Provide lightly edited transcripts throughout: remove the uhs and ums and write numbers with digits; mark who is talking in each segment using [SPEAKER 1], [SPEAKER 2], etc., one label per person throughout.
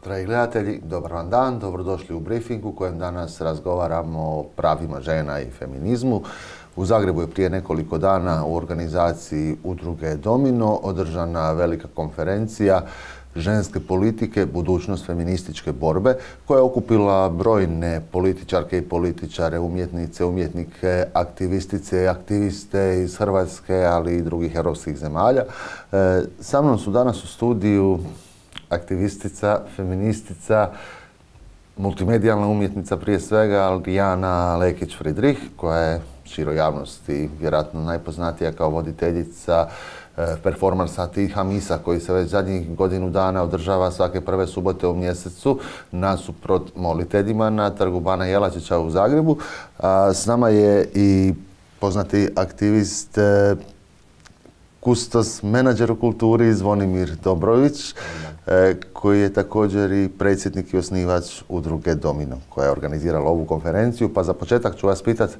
[SPEAKER 1] Dragi gledatelji, dobar vam dan, dobrodošli u briefing u kojem danas razgovaramo o pravima žena i feminizmu. U Zagrebu je prije nekoliko dana u organizaciji udruge Domino održana velika konferencija ženske politike, budućnost feminističke borbe, koja je okupila brojne političarke i političare, umjetnice, umjetnike, aktivistice i aktiviste iz Hrvatske, ali i drugih europskih zemalja. Sa mnom su danas u studiju aktivistica, feministica, multimedijalna umjetnica prije svega, Lijana Lekić-Friedrich, koja je široj javnosti vjerojatno najpoznatija kao voditeljica performansa Tiha misa, koji se već zadnjih godinu dana održava svake prve subote u mjesecu nasuprot moliteljima na Trgu Bana Jelačića u Zagrebu. S nama je i poznati aktivist, kustos, menadžer u kulturi Zvonimir Dobrović, koji je također i predsjednik i osnivač udruge Domino, koja je organizirala ovu konferenciju. Pa za početak ću vas pitati,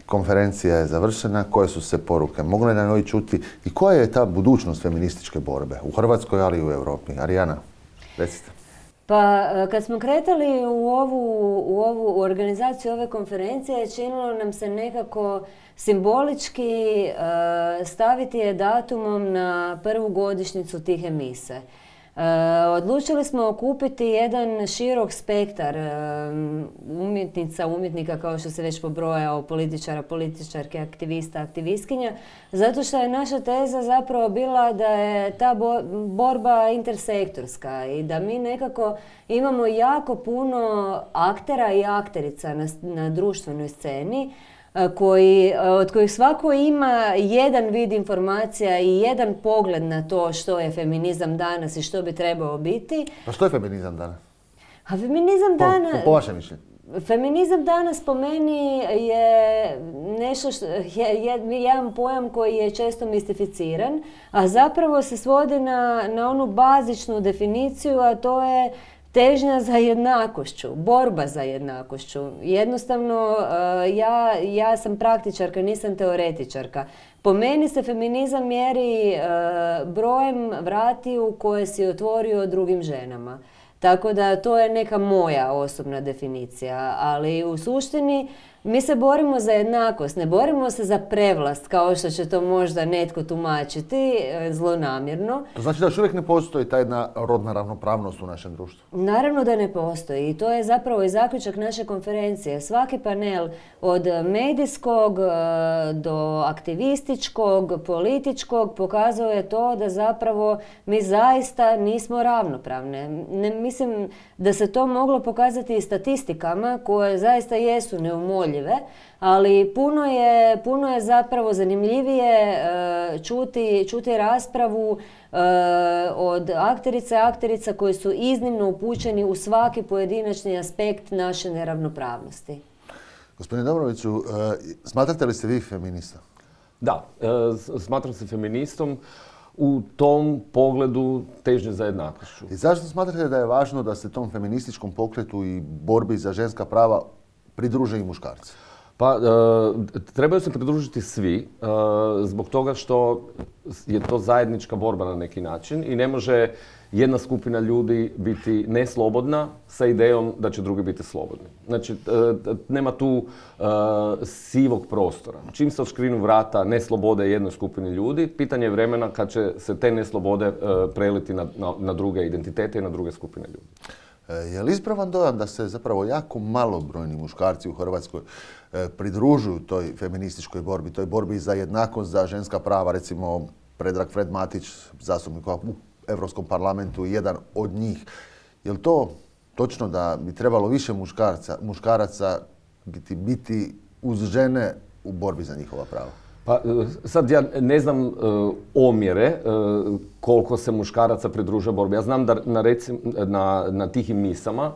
[SPEAKER 1] konferencija je završena, koje su se poruke mogle na njoj čuti i koja je ta budućnost feminističke borbe u Hrvatskoj, ali i u Europi? Arijana, recite.
[SPEAKER 2] Pa kad smo kretali u ovu organizaciju ove konferencije, činilo nam se nekako simbolički staviti je datumom na prvu godišnjicu Tihe mise. Odlučili smo okupiti jedan širok spektar umjetnica, umjetnika, kao što se već pobrojao, političara, političarke, aktivista, aktivistkinja, zato što je naša teza zapravo bila da je ta borba intersektorska i da mi nekako imamo jako puno aktera i akterica na društvenoj sceni, od kojih svako ima jedan vid informacija i jedan pogled na to što je feminizam danas i što bi trebao biti.
[SPEAKER 1] Pa što je feminizam danas?
[SPEAKER 2] A feminizam danas...
[SPEAKER 1] Po vašem mišljenju?
[SPEAKER 2] Feminizam danas po meni je nešto jedan pojam koji je često mistificiran, a zapravo se svodi na onu bazičnu definiciju, a to je težnja za jednakošću, borba za jednakošću. Jednostavno, ja sam praktičarka, nisam teoretičarka. Po meni se feminizam mjeri brojem vratiju koje si otvorio drugim ženama. Tako da to je neka moja osobna definicija, ali u suštini mi se borimo za jednakost, ne borimo se za prevlast, kao što će to možda netko tumačiti zlonamjerno.
[SPEAKER 1] To znači da još uvijek ne postoji ta jedna rodna ravnopravnost u našem društvu?
[SPEAKER 2] Naravno da ne postoji i to je zapravo i zaključak naše konferencije. Svaki panel od medijskog do aktivističkog, političkog pokazao je to da zapravo mi zaista nismo ravnopravne. Mislim da se to moglo pokazati i statistikama koje zaista jesu neumoljive, ali puno je zapravo zanimljivije čuti raspravu od akterica koji su iznimno upućeni u svaki pojedinačni aspekt naše neravnopravnosti.
[SPEAKER 1] Gospodine Dobroviću, smatrate li se vi feminista?
[SPEAKER 3] Da, smatram se feministom u tom pogledu težnje za jednakošću.
[SPEAKER 1] I zašto smatrate da je važno da se tom feminističkom pokretu i borbi za ženska prava pridruže i muškarci?
[SPEAKER 3] Pa, trebaju se pridružiti svi, zbog toga što je to zajednička borba na neki način i ne može jedna skupina ljudi biti neslobodna sa idejom da će drugi biti slobodni. Znači, nema tu sivog prostora. Čim se odškrinu vrata neslobode jednoj skupini ljudi, pitanje je vremena kad će se te neslobode preliti na druge identitete i na druge skupine ljudi.
[SPEAKER 1] Je li ispravan dojam da se zapravo jako malobrojni muškarci u Hrvatskoj pridružuju toj feminističkoj borbi, toj borbi za jednakost, za ženska prava? Recimo, Predrag Fred Matić, zastupnik u Europskom parlamentu, jedan od njih. Je li to točno da bi trebalo više muškaraca biti uz žene u borbi za njihova prava?
[SPEAKER 3] Pa sad ja ne znam omjere koliko se muškaraca pridružuje borbi. Ja znam da na tihim misama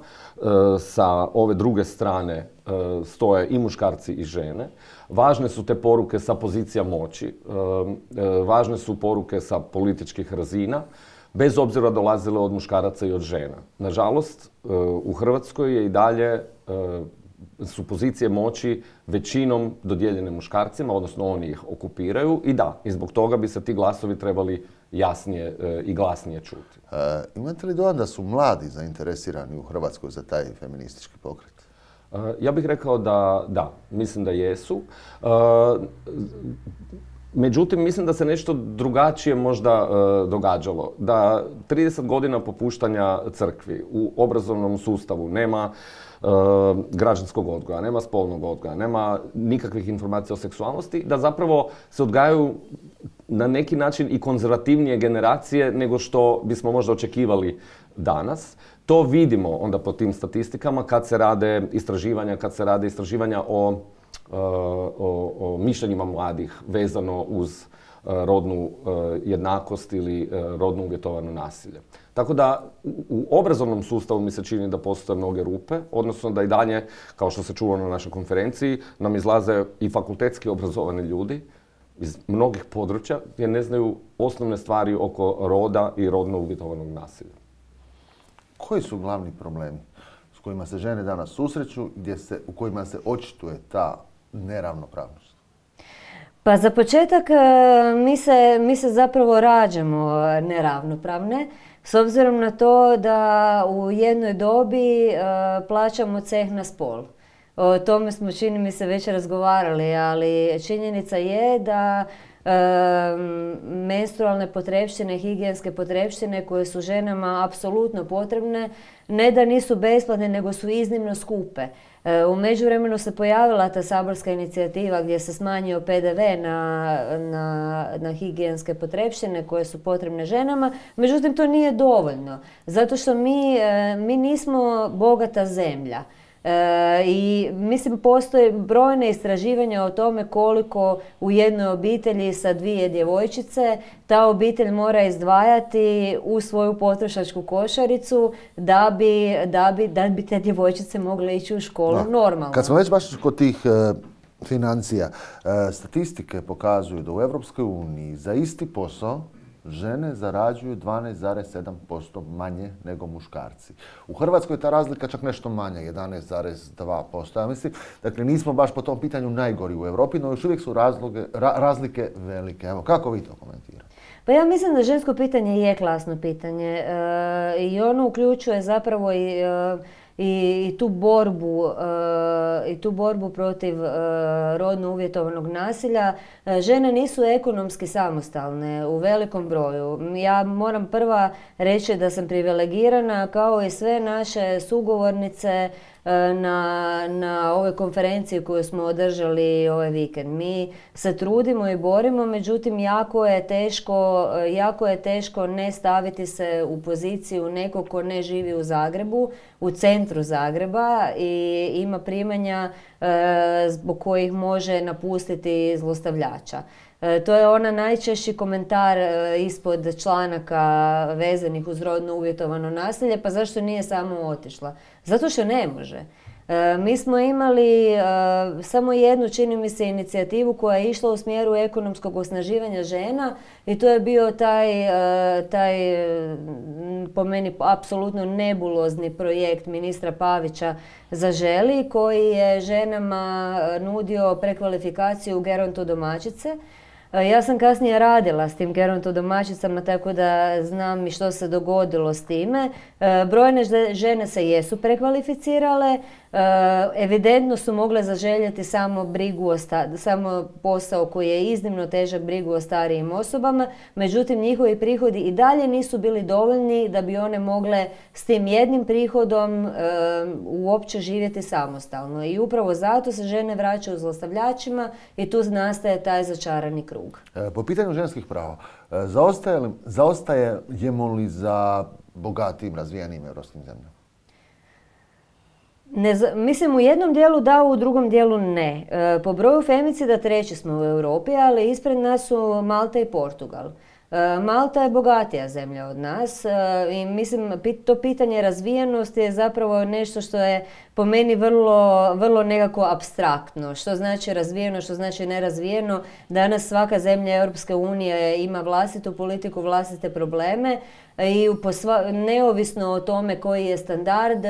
[SPEAKER 3] sa ove druge strane stoje i muškarci i žene. Važne su te poruke sa pozicija moći, važne su poruke sa političkih razina, bez obzira dolazile od muškaraca i od žena. Nažalost, u Hrvatskoj je i dalje su pozicije moći većinom dodijeljene muškarcima, odnosno oni ih okupiraju i da, i zbog toga bi se ti glasovi trebali jasnije i glasnije čuti.
[SPEAKER 1] Imate li dojam da su mladi zainteresirani u Hrvatskoj za taj feministički pokret?
[SPEAKER 3] Ja bih rekao da, mislim da jesu. Međutim, mislim da se nešto drugačije možda događalo. Da 30 godina popuštanja crkvi u obrazovnom sustavu nema građanskog odgoja, nema spolnog odgoja, nema nikakvih informacija o seksualnosti, da zapravo se odgajaju na neki način i konzervativnije generacije nego što bismo možda očekivali danas. To vidimo onda po tim statistikama kad se rade istraživanja o mišljenjima mladih vezano uz rodnu jednakost ili rodno uvjetovano nasilje. Tako da u obrazovnom sustavu mi se čini da postoje mnoge rupe, odnosno da i dalje, kao što se čulo na našoj konferenciji, nam izlaze i fakultetski obrazovani ljudi iz mnogih područja gdje ne znaju osnovne stvari oko roda i rodno uvjetovanog nasilja.
[SPEAKER 1] Koji su glavni problemi s kojima se žene danas susreću, u kojima se očituje ta neravnopravnost?
[SPEAKER 2] Pa za početak mi se zapravo rađamo neravnopravne, s obzirom na to da u jednoj dobi plaćamo ceh na spol. O tome smo, čini mi se, već razgovarali, ali činjenica je da menstrualne potrepštine, higijenske potrepštine koje su ženama apsolutno potrebne, ne da nisu besplatne, nego su iznimno skupe. U međuvremenu se pojavila ta saborska inicijativa gdje se smanjio PDV na higijenske potrepštine koje su potrebne ženama, međutim to nije dovoljno, zato što mi nismo bogata zemlja. I mislim postoje brojne istraživanja o tome koliko u jednoj obitelji sa 2 djevojčice ta obitelj mora izdvajati u svoju potrošačku košaricu da bi te djevojčice mogle ići u školu normalno.
[SPEAKER 1] Kad smo već baš kod tih financija, statistike pokazuju da u Europskoj uniji za isti posao žene zarađuju 12,7% manje nego muškarci. U Hrvatskoj je ta razlika čak nešto manja, 11,2%. Ja mislim, dakle, nismo baš po tom pitanju najgori u Europi, no još uvijek su razlike velike. Evo, kako vi to komentirate?
[SPEAKER 2] Pa ja mislim da žensko pitanje je klasno pitanje i ono uključuje zapravo i tu borbu protiv rodno uvjetovanog nasilja. Žene nisu ekonomski samostalne u velikom broju. Ja moram prva reći da sam privilegirana kao i sve naše sugovornice na ovoj konferenciji koju smo održali ovaj vikend. Mi se trudimo i borimo, međutim jako je teško ne staviti se u poziciju nekog ko ne živi u Zagrebu, u centru Zagreba i ima primanja zbog kojih može napustiti zlostavljača. To je ona najčešći komentar ispod članaka vezanih uz rodno uvjetovano nasilje, pa zašto nije samo otišla? Zato što ne može. Mi smo imali samo jednu, čini mi se, inicijativu koja je išla u smjeru ekonomskog osnaživanja žena i to je bio taj po meni apsolutno nebulozni projekt ministra Pavića Zaželi, koji je ženama nudio prekvalifikaciju u gerontodomaćice. Ja sam kasnije radila s tim gerontodomaćicama, tako da znam i što se dogodilo s time. Brojne žene se jesu prekvalificirale, evidentno su mogle zaželjeti samo posao koji je iznimno težak, brigu o starijim osobama, međutim njihovi prihodi i dalje nisu bili dovoljni da bi one mogle s tim jednim prihodom uopće živjeti samostalno. I upravo zato se žene vraćaju zlostavljačima i tu nastaje taj začarani krug.
[SPEAKER 1] Po pitanju ženskih prava, zaostajemo li za bogatim, razvijenim europskim zemljama?
[SPEAKER 2] Mislim, u jednom dijelu da, u drugom dijelu ne. Po broju femicida treći smo u Europi, ali ispred nas su Malta i Portugal. Malta je bogatija zemlja od nas i mislim to pitanje razvijenosti je zapravo nešto što je po meni vrlo nekako apstraktno. Što znači razvijeno, što znači nerazvijeno. Danas svaka zemlja Europske unije ima vlastitu politiku, vlastite probleme i neovisno o tome koji je standard,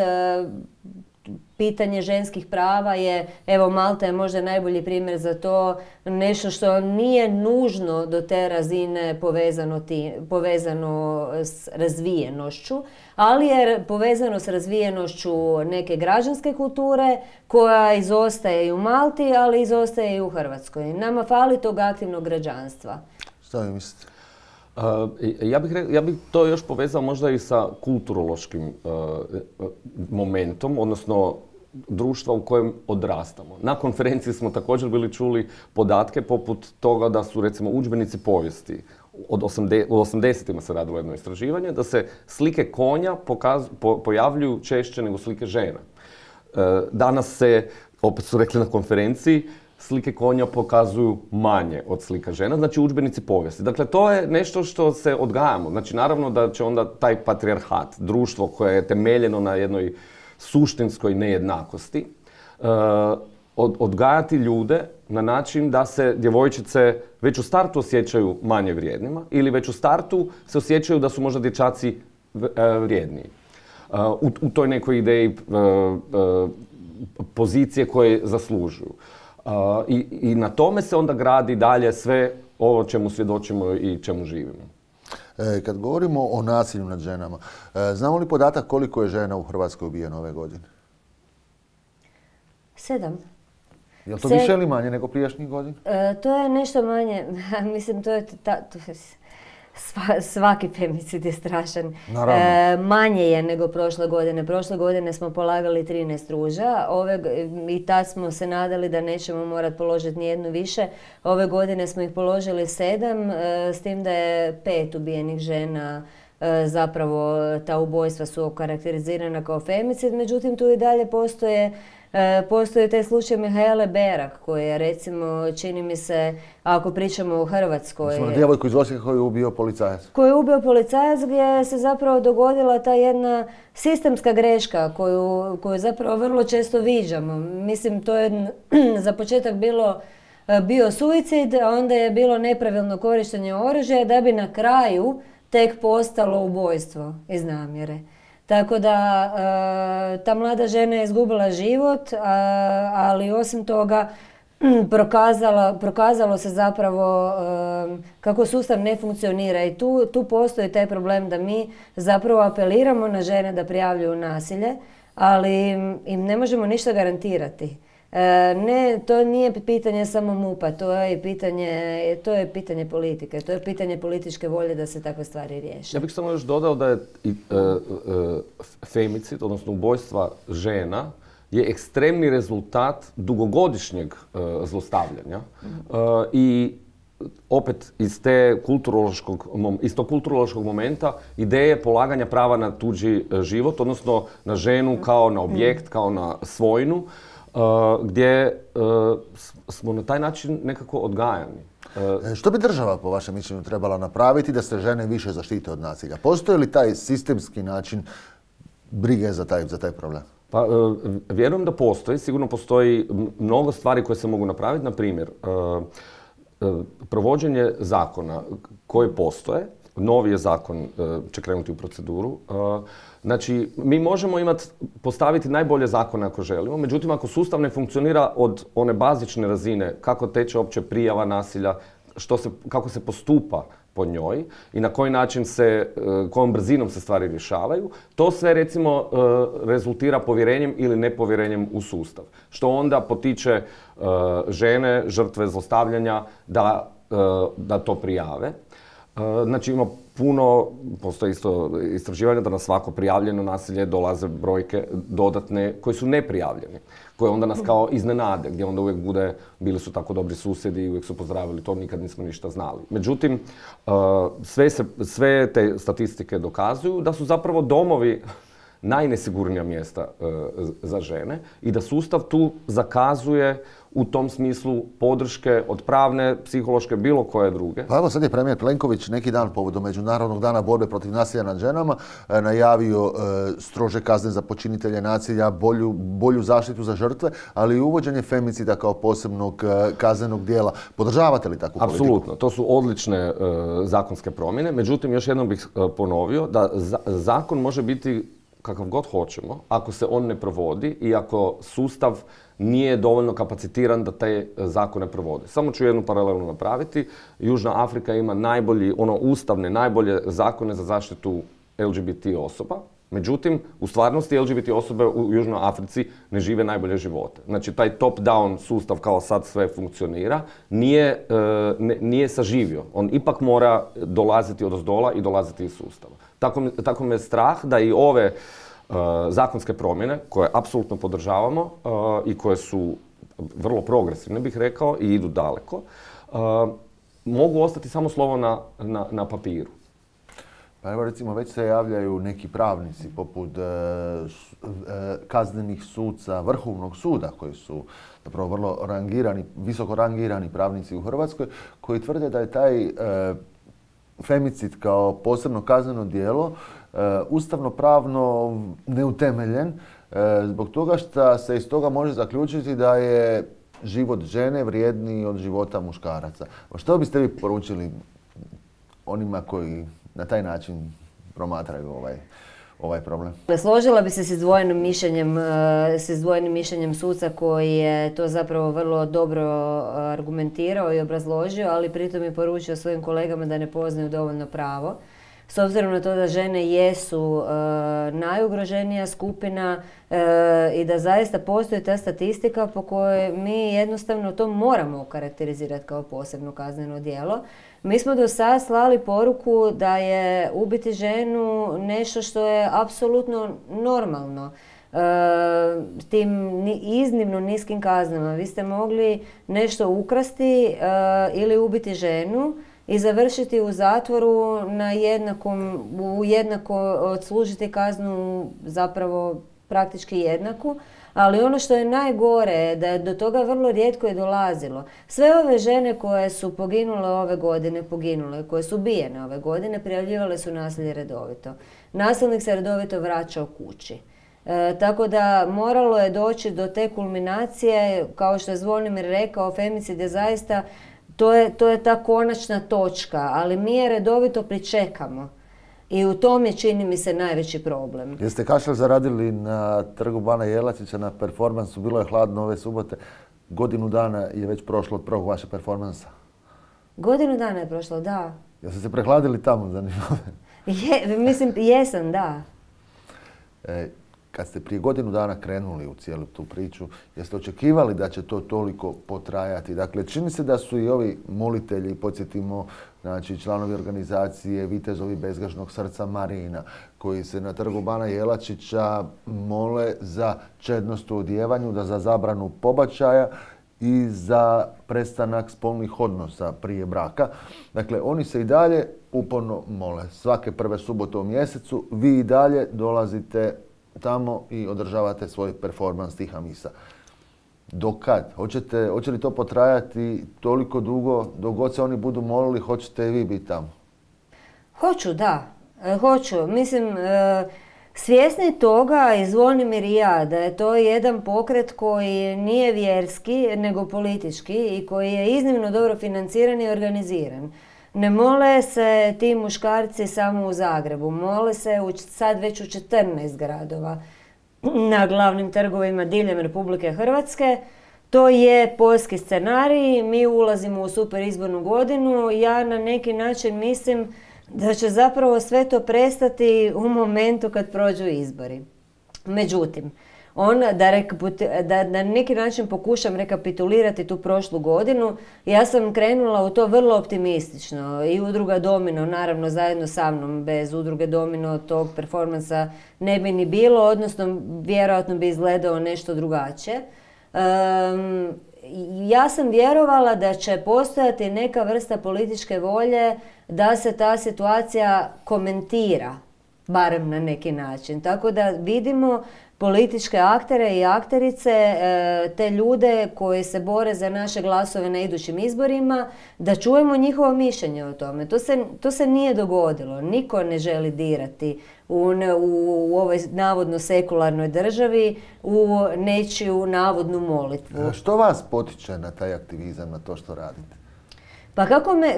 [SPEAKER 2] pitanje ženskih prava je, evo Malta je možda najbolji primjer za to, nešto što nije nužno do te razine povezano s razvijenošću, ali je povezano s razvijenošću neke građanske kulture koja izostaje i u Malti, ali izostaje i u Hrvatskoj. Nama fali tog aktivnog građanstva.
[SPEAKER 1] Šta vi mislite?
[SPEAKER 3] Ja bih to još povezao možda i sa kulturološkim momentom, odnosno društva u kojem odrastamo. Na konferenciji smo također bili čuli podatke poput toga da su recimo udžbenici povijesti, u 80-ima se radilo jedno istraživanje, da se slike konja pojavljuju češće nego slike žena. Danas se, opet su rekli na konferenciji, slike konja pokazuju manje od slika žena, znači udžbenici povijesti. Dakle, to je nešto što se odgajamo. Znači, naravno da će onda taj patrijarhat, društvo koje je temeljeno na jednoj suštinskoj nejednakosti, odgajati ljude na način da se djevojčice već u startu osjećaju manje vrijednima ili već u startu se osjećaju da su možda dječaci vrijedniji. U toj nekoj ideji pozicije koje zaslužuju. I na tome se onda gradi dalje sve ovo čemu svjedočimo i čemu živimo.
[SPEAKER 1] Kad govorimo o nasilju nad ženama, znamo li podatak koliko je žena u Hrvatskoj ubijeno ove godine?
[SPEAKER 2] 7.
[SPEAKER 1] Je li to više ili manje nego prijašnjih godina?
[SPEAKER 2] To je nešto manje. Mislim, to je svaki femicid je strašan. Manje je nego prošle godine. Prošle godine smo polagali 13 ruža i tad smo se nadali da nećemo morati položiti nijednu više. Ove godine smo ih položili 7, s tim da je 5 ubijenih žena. Zapravo ta ubojstva su okarakterizirana kao femicid, međutim tu i dalje postoje taj slučaj Mihaele Berak, koji je recimo, čini mi se, ako pričamo o Hrvatskoj...
[SPEAKER 1] Smo na djevojku iz Osijeka koju je ubio policajac.
[SPEAKER 2] Koju je ubio policajac, gdje se zapravo dogodila ta jedna sistemska greška koju zapravo vrlo često viđamo. Mislim, to je za početak bio suicid, a onda je bilo nepravilno korištenje oružja da bi na kraju tek postalo ubojstvo iz namjere. Tako da ta mlada žena je izgubila život, ali osim toga prokazalo se zapravo kako sustav ne funkcionira i tu postoji taj problem da mi zapravo apeliramo na žene da prijavljuju nasilje, ali im ne možemo ništa garantirati. Ne, to nije pitanje samo MUP-a, to je pitanje politike, to je pitanje političke volje da se takve stvari riješe.
[SPEAKER 3] Ja bih samo još dodao da je femicid, odnosno ubojstva žena, je ekstremni rezultat dugogodišnjeg zlostavljanja i opet iz tog kulturološkog momenta ideje polaganja prava na tuđi život, odnosno na ženu kao na objekt, kao na svojinu, gdje smo na taj način nekako odgajani.
[SPEAKER 1] Što bi država, po vašem mišljenju, trebala napraviti da se žene više zaštite od nasilja? Postoji li taj sistemski način brige za taj problem?
[SPEAKER 3] Pa, vjerujem da postoji. Sigurno postoji mnogo stvari koje se mogu napraviti. Na primjer, provođenje zakona koji postoje, novi je zakon će krenuti u proceduru. Znači, mi možemo postaviti najbolje zakone ako želimo, međutim ako sustav ne funkcionira od one bazične razine, kako teče uopće prijava nasilja, kako se postupa po njoj i na koji način kojom brzinom se stvari rješavaju, to sve recimo rezultira povjerenjem ili nepovjerenjem u sustav. Što onda potiče žene, žrtve zlostavljanja da to prijave. Znači ima postoji isto istraživanje da na svako prijavljeno nasilje dolaze brojke dodatne koji su neprijavljeni, koje onda nas kao iznenade, gdje onda uvijek bili su tako dobri susjedi i uvijek su pozdravili to, nikad nismo ništa znali. Međutim, sve te statistike dokazuju da su zapravo domovi najnesigurnija mjesta za žene i da sustav tu zakazuje u tom smislu podrške od pravne, psihološke, bilo koje druge.
[SPEAKER 1] Pa evo sad je premijer Plenković neki dan povodom Međunarodnog dana borbe protiv nasilja nad ženama najavio strože kazne za počinitelje nasilja, bolju zaštitu za žrtve, ali i uvođenje femicida kao posebnog kaznenog dijela. Podržavate li takvu politiku?
[SPEAKER 3] Apsolutno, to su odlične zakonske promjene. Međutim, još jednom bih ponovio da zakon može biti kakav god hoćemo, ako se on ne provodi i ako sustav nije dovoljno kapacitiran da te zakone provode. Samo ću jednu paralelu napraviti. Južna Afrika ima ustavne, najbolje zakone za zaštitu LGBT osoba. Međutim, u stvarnosti LGBT osobe u Južnoj Africi ne žive najbolje živote. Znači, taj top-down sustav kao sad sve funkcionira, nije saživio. On ipak mora dolaziti odozdola i dolaziti iz sustava. Tako me je strah da i ove zakonske promjene, koje apsolutno podržavamo i koje su vrlo progresivne, bih rekao, i idu daleko, mogu ostati samo slovo na papiru.
[SPEAKER 1] Pa evo recimo već se javljaju neki pravnici poput kaznenih suca Vrhovnog suda koji su zapravo vrlo rangirani, visoko rangirani pravnici u Hrvatskoj koji tvrde da je taj femicid kao posebno kazneno djelo ustavno-pravno neutemeljen zbog toga što se iz toga može zaključiti da je život žene vrijedniji od života muškaraca. Što biste vi poručili onima koji na taj način promatraju ovaj problem?
[SPEAKER 2] Složila bi se s izdvojenim mišljenjem suca koji je to zapravo vrlo dobro argumentirao i obrazložio, ali pritom je poručio svojim kolegama da ne poznaju dovoljno pravo. S obzirom na to da žene jesu najugroženija skupina i da zaista postoji ta statistika po kojoj mi jednostavno to moramo okarakterizirati kao posebno kazneno djelo. Mi smo do sada slali poruku da je ubiti ženu nešto što je apsolutno normalno. Tim iznimno niskim kaznama. Vi ste mogli nešto ukrasti ili ubiti ženu i završiti u zatvoru jednako odslužiti kaznu zapravo praktički jednaku. Ali ono što je najgore je da je do toga vrlo rijetko je dolazilo. Sve ove žene koje su poginule ove godine, koje su ubijene ove godine, prijavljivale su nasilje redovito. Nasilnik se redovito vraćao kući. Tako da moralo je doći do te kulminacije, kao što je Zvonimir rekao, femicid je zaista, to je ta konačna točka, ali mi je redovito pričekamo. I u tom je, čini mi se, najveći problem.
[SPEAKER 1] Jeste kašalj zaradili na Trgu Bana Jelačića na performansu, bilo je hladno ove subote. Godinu dana je već prošlo od prvog vašeg performansa.
[SPEAKER 2] Godinu dana je prošlo, da.
[SPEAKER 1] Jeste se prehladili tamo, zanimljivo?
[SPEAKER 2] Mislim, jesam, da.
[SPEAKER 1] Kad ste prije godinu dana krenuli u cijelu tu priču, jeste očekivali da će to toliko potrajati? Dakle, čini se da su i ovi molitelji, podsjetimo, znači članovi organizacije Vitezovi bezgrešnog srca Marina, koji se na Trgu Bana Jelačića mole za čednost u odjevanju, da za zabranu pobačaja i za prestanak spolnih odnosa prije braka. Dakle, oni se i dalje uporno mole. Svake prve subote u mjesecu vi i dalje dolazite tamo i održavate svoj performans tiha misa. Do kad? Hoće li to potrajati toliko dugo, dok god se oni budu molili, hoćete i vi biti tamo?
[SPEAKER 2] Hoću, da. Hoću. Mislim, svjesni toga i Zvonimir i ja, da je to jedan pokret koji nije vjerski, nego politički i koji je iznimno dobro financiran i organiziran. Ne mole se ti muškarci samo u Zagrebu, mole se sad već u 14 gradova na glavnim trgovima diljem Republike Hrvatske. To je poljski scenarij, mi ulazimo u super izbornu godinu. Ja na neki način mislim da će zapravo sve to prestati u momentu kad prođu izbori. Međutim, da na neki način pokušam rekapitulirati tu prošlu godinu, ja sam krenula u to vrlo optimistično i Udruga Domino, naravno zajedno sa mnom, bez Udruge Domino tog performansa ne bi ni bilo, odnosno vjerojatno bi izgledao nešto drugačije. Ja sam vjerovala da će postojati neka vrsta političke volje da se ta situacija komentira, barem na neki način. Tako da vidimo političke aktere i akterice, te ljude koji se bore za naše glasove na idućim izborima, da čujemo njihovo mišljenje o tome. To se nije dogodilo. Niko ne želi dirati u ovoj navodno sekularnoj državi u nečiju navodnu molitvu.
[SPEAKER 1] Što vas potiče na taj aktivizam, na to što radite?
[SPEAKER 2] Pa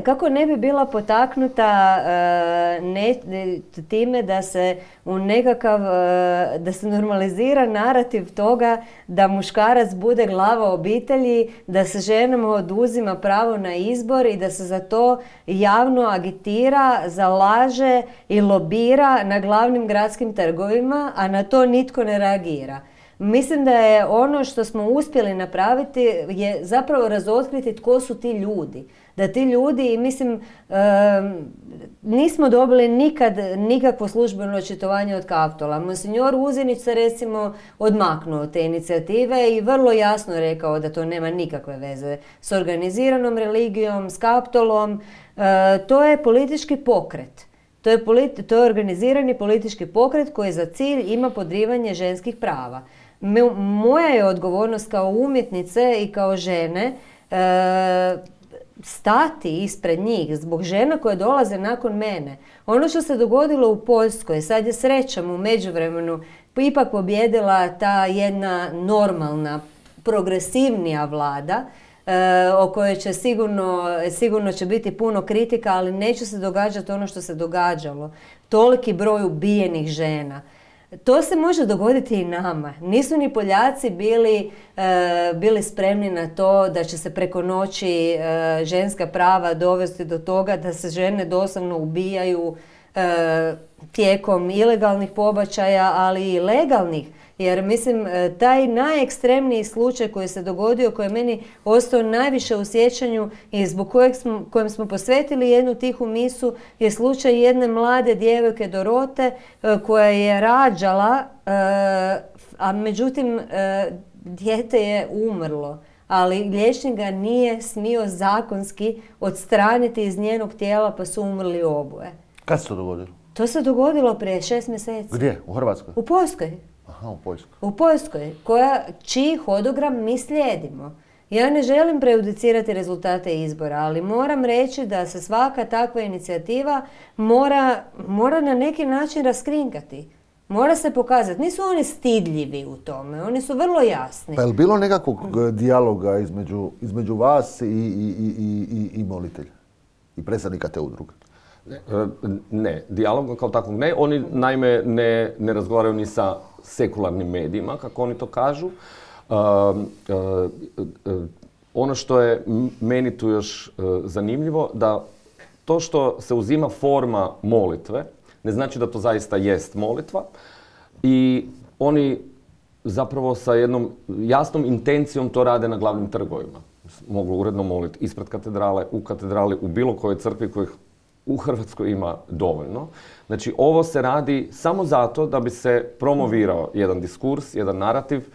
[SPEAKER 2] kako ne bi bila potaknuta time da se da se normalizira narativ toga da muškarac bude glava obitelji, da se ženama oduzima pravo na izbor i da se za to javno agitira, zalaže i lobira na glavnim gradskim trgovima, a na to nitko ne reagira. Mislim da je ono što smo uspjeli napraviti je zapravo razotkriti tko su ti ljudi. Da ti ljudi, mislim, nismo dobili nikad nikakvo službeno očitovanje od Kaptola. Monsignor Uzinić se recimo odmaknuo od te inicijative i vrlo jasno rekao da to nema nikakve veze s organiziranom religijom, s Kaptolom. To je politički pokret. To je organizirani politički pokret koji za cilj ima podrivanje ženskih prava. Moja je odgovornost kao umjetnice i kao žene stati ispred njih zbog žena koje dolaze nakon mene. Ono što se dogodilo u Poljskoj, sad je srećom u međuvremenu ipak pobjedila ta jedna normalna, progresivnija vlada, o kojoj će sigurno će biti puno kritika, ali neće se događati ono što se događalo. Toliki broj ubijenih žena. To se može dogoditi i nama. Nisu ni Poljaci bili spremni na to da će se preko noći ženska prava dovesti do toga da se žene doslovno ubijaju tijekom ilegalnih pobačaja, ali i legalnih. Jer mislim, taj najekstremniji slučaj koji se dogodio, koji je meni ostao najviše u sjećanju i zbog kojem smo posvetili jednu tihu misu, je slučaj jedne mlade djevojke Dorote koja je rađala, a međutim dijete je umrlo. Ali liječnik ga nije smio zakonski odstraniti iz njenog tijela, pa su umrli oboje.
[SPEAKER 1] Kad se to dogodilo?
[SPEAKER 2] To se dogodilo prije 6 mjeseci.
[SPEAKER 1] Gdje? U Hrvatskoj?
[SPEAKER 2] U Poljskoj.
[SPEAKER 1] Aha, u Poljskoj.
[SPEAKER 2] U Poljskoj, čiji hodogram mi slijedimo. Ja ne želim prejudicirati rezultate izbora, ali moram reći da se svaka takva inicijativa mora na neki način raskrinkati. Mora se pokazati. Nisu oni stidljivi u tome, oni su vrlo jasni.
[SPEAKER 1] Pa je li bilo nekakvog dijaloga između vas i molitelja? I predstavnika te udruge?
[SPEAKER 3] Ne, dijalog kao takvog ne. Oni naime ne razgovaraju ni sa sekularnim medijima, kako oni to kažu. Ono što je meni tu još zanimljivo, da to što se uzima forma molitve, ne znači da to zaista jest molitva. I oni zapravo sa jednom jasnom intencijom to rade na glavnim trgovima. Mogu uredno moliti ispred katedrale, u katedrali, u bilo kojoj crkvi kojih u Hrvatskoj ima dovoljno. Znači, ovo se radi samo zato da bi se promovirao jedan diskurs, jedan narativ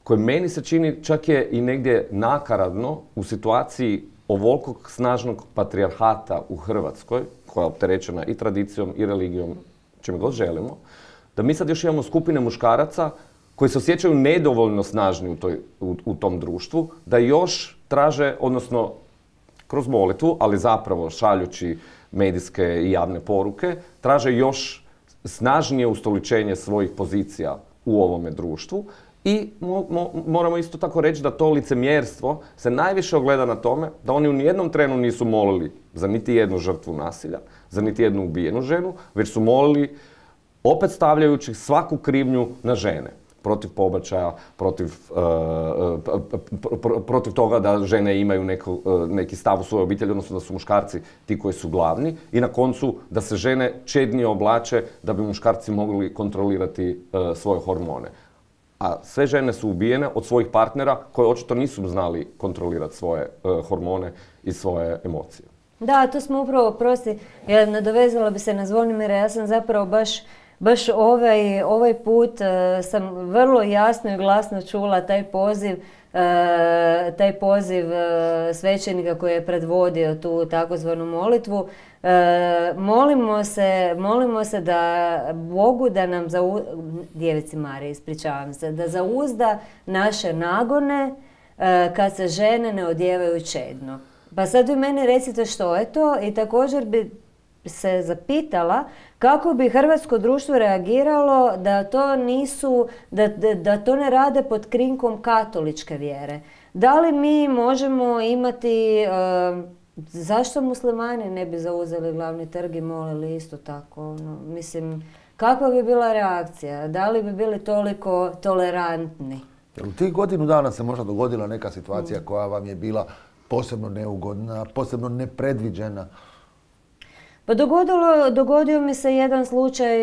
[SPEAKER 3] koji meni se čini čak je i negdje nakaradno u situaciji ovolikog snažnog patrijarhata u Hrvatskoj, koja je opterećena i tradicijom i religijom, čime god želimo, da mi sad još imamo skupine muškaraca koji se osjećaju nedovoljno snažni u tom društvu, da još traže, odnosno kroz molitvu, ali zapravo šaljući medijske i javne poruke, traže još snažnije ustoličenje svojih pozicija u ovome društvu. I moramo isto tako reći da to licemjerstvo se najviše ogleda na tome da oni u nijednom trenu nisu molili za niti jednu žrtvu nasilja, za niti jednu ubijenu ženu, već su molili opet stavljajući svaku krivnju na žene. Protiv pobačaja, protiv toga da žene imaju neki stav u svojoj obitelji, odnosno da su muškarci ti koji su glavni i na koncu da se žene čednije oblače da bi muškarci mogli kontrolirati svoje hormone. A sve žene su ubijene od svojih partnera koji očito nisu znali kontrolirati svoje hormone i svoje emocije.
[SPEAKER 2] Da, to smo upravo, nadovezala bi se na Zvonimira, ja sam zapravo baš ovaj put sam vrlo jasno i glasno čula taj poziv svećenika koji je predvodio tu takozvanu molitvu. Molimo se da Bogu da nam Djevici Mariji, ispričavam se, da zauzda naše nagone kad se žene ne odijevaju čedno. Pa sad vi meni recite što je to i također bi se zapitala kako bi hrvatsko društvo reagiralo da to ne rade pod krinkom katoličke vjere. Da li mi možemo imati zašto muslimani ne bi zauzeli glavni trg i molili isto tako? Mislim, kakva bi bila reakcija? Da li bi bili toliko tolerantni?
[SPEAKER 1] U tih godinu dana se možda dogodila neka situacija koja vam je bila posebno neugodna, posebno nepredviđena?
[SPEAKER 2] Pa dogodio mi se jedan slučaj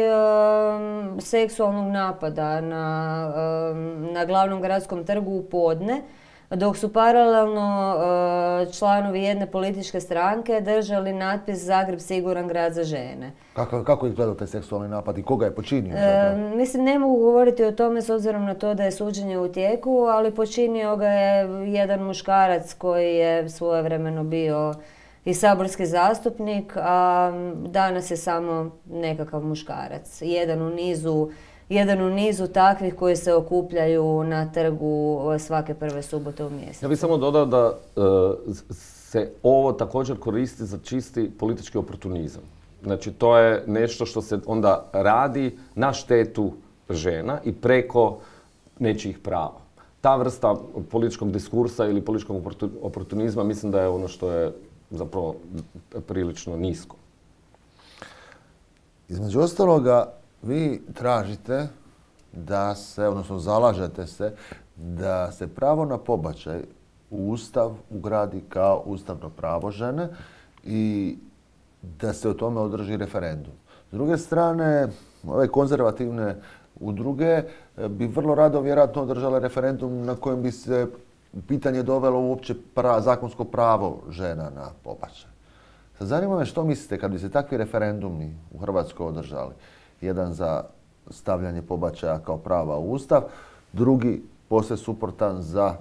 [SPEAKER 2] seksualnog napada na glavnom gradskom trgu u podne, dok su paralelno članovi jedne političke stranke držali natpis Zagreb siguran grad za žene.
[SPEAKER 1] Kako je izgledao taj seksualni napad i koga je počinio?
[SPEAKER 2] Mislim, ne mogu govoriti o tome s obzirom na to da je suđenje u tijeku, ali počinio ga je jedan muškarac koji je svojevremeno bio i saborski zastupnik, a danas je samo nekakav muškarac. Jedan u nizu takvih koji se okupljaju na trgu svake prve subote u mjesecu.
[SPEAKER 3] Ja bih samo dodao da se ovo također koristi za čisti politički oportunizam. Znači, to je nešto što se onda radi na štetu žena i preko nečijih prava. Ta vrsta političkog diskursa ili političkog oportunizma mislim da je ono što je zapravo prilično nisko.
[SPEAKER 1] Između ostaloga, vi tražite da se, odnosno zalažete se, da se pravo na pobačaj u Ustav ugradi kao ustavno pravo žene i da se o tome održi referendum. S druge strane, ove konzervativne udruge bi vrlo rado vjerojatno održale referendum na kojem bi se pitanje dovelo uopće zakonsko pravo žena na pobačaj. Sad zanima me što mislite kad bi se takvi referendumi u Hrvatskoj održali. Jedan za stavljanje pobačaja kao prava u Ustav, drugi posve suprotan za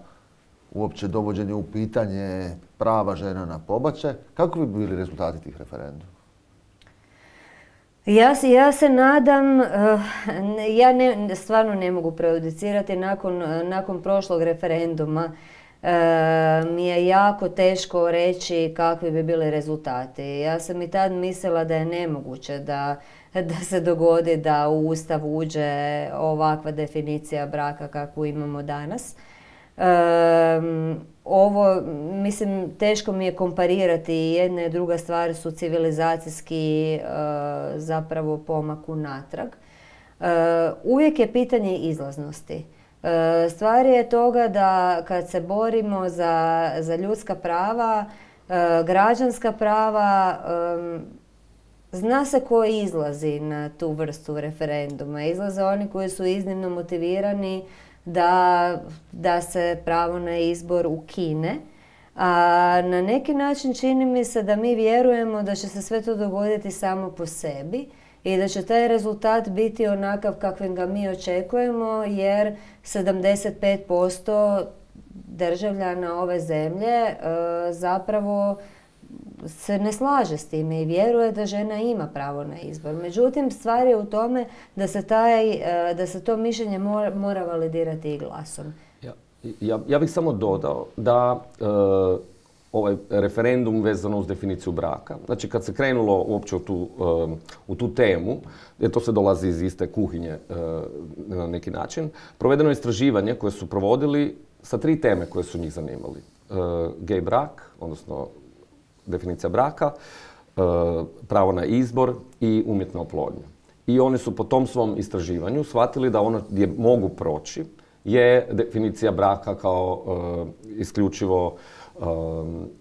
[SPEAKER 1] uopće dovođenje u pitanje prava žena na pobačaj. Kako bi bili rezultati tih referenduma?
[SPEAKER 2] Ja se nadam, stvarno ne mogu prejudicirati nakon prošlog referenduma. Mi je jako teško reći kakvi bi bili rezultati. Ja sam i tad mislila da je nemoguće da se dogodi da u Ustav uđe ovakva definicija braka kakvu imamo danas. Ovo, mislim, teško mi je komparirati. Jedna i druga stvar su civilizacijski zapravo pomak unatrag. Uvijek je pitanje izlaznosti. Stvar je toga da kad se borimo za ljudska prava, građanska prava, zna se ko izlazi na tu vrstu referenduma. Izlaze oni koji su iznimno motivirani da se pravo na izbor ukine. A na neki način čini mi se da mi vjerujemo da će se sve to dogoditi samo po sebi i da će taj rezultat biti onakav kakvim ga mi očekujemo, jer 75% državljana ove zemlje zapravo se ne slaže s time i vjeruje da žena ima pravo na izbor. Međutim, stvar je u tome da se to mišljenje mora validirati i glasom.
[SPEAKER 3] Ja bih samo dodao da ovaj referendum vezano uz definiciju braka, znači kad se krenulo uopće u tu temu, jer to se dolazi iz iste kuhinje na neki način, provedeno je istraživanje koje su provodili sa 3 teme koje su njih zanimali. Gej brak, odnosno definicija braka, pravo na izbor i umjetna oplodnja. I oni su po tom svom istraživanju shvatili da ono gdje mogu proći je definicija braka kao isključivo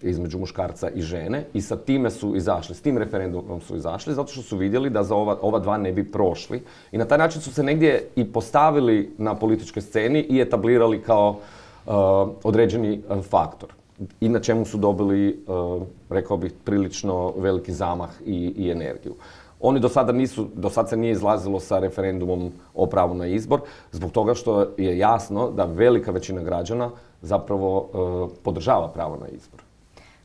[SPEAKER 3] između muškarca i žene i sa time su izašli, s tim referendumom su izašli zato što su vidjeli da za ova dva ne bi prošli i na taj način su se negdje i postavili na političkoj sceni i etablirali kao određeni faktor i na čemu su dobili, rekao bih, prilično veliki zamah i energiju. Oni do sad se nije izlazilo sa referendumom o pravu na izbor, zbog toga što je jasno da velika većina građana zapravo podržava pravo na izbor.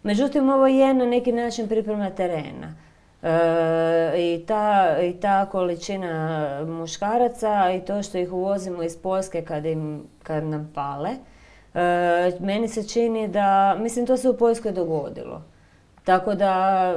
[SPEAKER 2] Međutim, ovo je na neki način priprema terena. I ta količina muškaraca i to što ih uvozimo iz Poljske kad nam pale, meni se čini da, mislim, to se u Poljskoj dogodilo. Tako da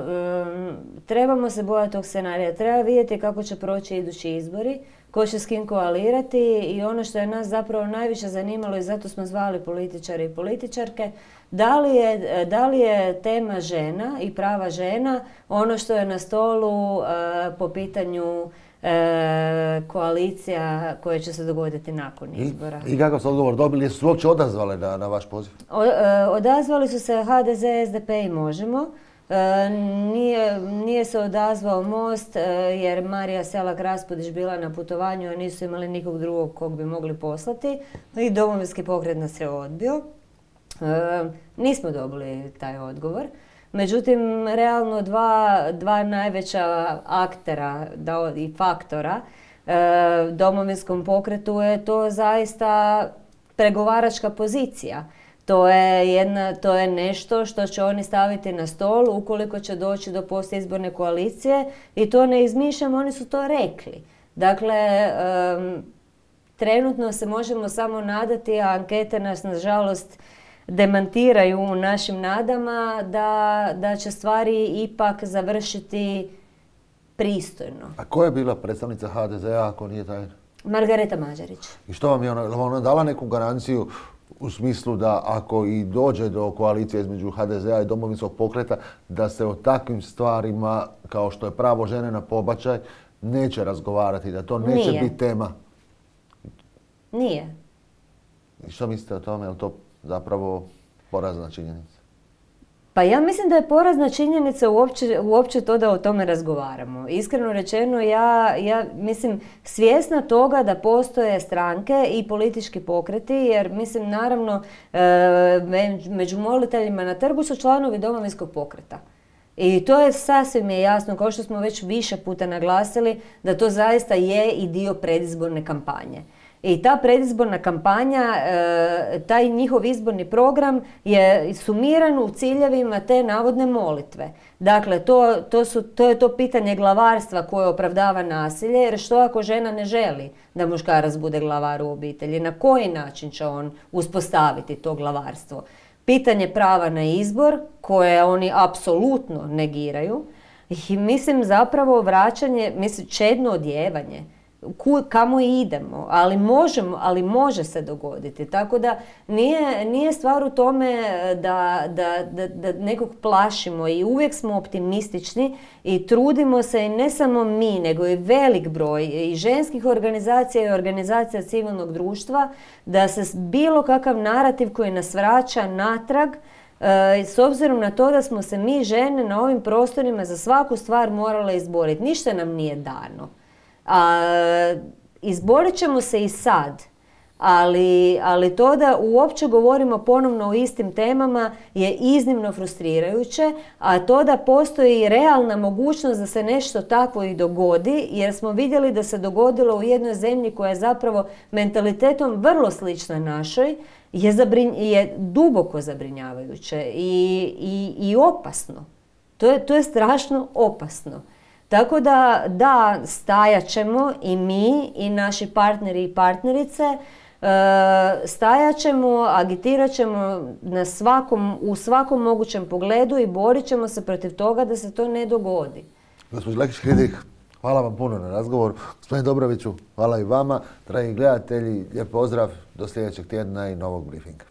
[SPEAKER 2] trebamo se bojati tog scenarija. Treba vidjeti kako će proći idući izbori, ko će s kim koalirati i ono što je nas zapravo najviše zanimalo i zato smo zvali političari i političarke, da li je tema žena i prava žena ono što je na stolu po pitanju koalicija koje će se dogoditi nakon izbora.
[SPEAKER 1] I kakav su odgovor dobili? Jesu se uopće odazvale na vaš poziv?
[SPEAKER 2] Odazvali su se HDZ, SDP i Možemo. Nije se odazvao Most jer Marija Selak-Raspudić bila na putovanju, a nisu imali nikog drugog kog bi mogli poslati. I Domovinski pokret nas je odbio. Nismo dobili taj odgovor. Međutim, realno dva najveća aktera i faktora Domovinskom pokretu je to zaista pregovaračka pozicija. To je nešto što će oni staviti na stol ukoliko će doći do postizborne koalicije i to ne izmišljam, oni su to rekli. Dakle, trenutno se možemo samo nadati, a ankete nas nažalost demantiraju u našim nadama da će stvari ipak završiti pristojno.
[SPEAKER 1] A ko je bila predstavnica HDZ-a ako nije tajna?
[SPEAKER 2] Margareta Mađarić.
[SPEAKER 1] I što vam je ona dala neku garanciju u smislu da ako i dođe do koalicije između HDZ-a i Domovinskog pokreta, da se o takvim stvarima kao što je pravo žene na pobačaj neće razgovarati, da to neće biti tema?
[SPEAKER 2] Nije.
[SPEAKER 1] I što mislite o tome? Je li to zapravo porazna činjenica?
[SPEAKER 2] Pa ja mislim da je porazna činjenica uopće to da o tome razgovaramo. Iskreno rečeno, ja mislim svjesna toga da postoje stranke i politički pokreti, jer mislim naravno među moliteljima na trgu su članovi Domovinskog pokreta. I to je sasvim jasno, kao što smo već više puta naglasili, da to zaista je i dio predizborne kampanje. I ta predizborna kampanja, taj njihov izborni program je sumiran u ciljevima te navodne molitve. Dakle, to je to pitanje glavarstva koje opravdava nasilje, jer što ako žena ne želi da muškarac bude glavar u obitelji? Na koji način će on uspostaviti to glavarstvo? Pitanje prava na izbor, koje oni apsolutno negiraju, i mislim zapravo vraćanje, čedno odjevanje. Kamo idemo, ali može se dogoditi. Tako da nije stvar u tome da nekog plašimo i uvijek smo optimistični i trudimo se i ne samo mi, nego i velik broj i ženskih organizacija i organizacija civilnog društva da se bilo kakav narativ koji nas vraća natrag, s obzirom na to da smo se mi žene na ovim prostorima za svaku stvar morale izboriti. Ništa nam nije dano. Izborit ćemo se i sad, ali to da uopće govorimo ponovno o istim temama je iznimno frustrirajuće, a to da postoji realna mogućnost da se nešto takvo i dogodi, jer smo vidjeli da se dogodilo u jednoj zemlji koja je zapravo mentalitetom vrlo slična našoj, je duboko zabrinjavajuće i opasno. To je strašno opasno. Tako da stajat ćemo i mi i naši partneri i partnerice, stajat ćemo, agitirat ćemo u svakom mogućem pogledu i borit ćemo se protiv toga da se to ne dogodi.
[SPEAKER 1] Gospođo Lekić-Hridrik, hvala vam puno na razgovoru. Gospodine Dobroviću, hvala i vama. Dragi gledatelji, lijep pozdrav, do sljedećeg tjedna i novog briefinga.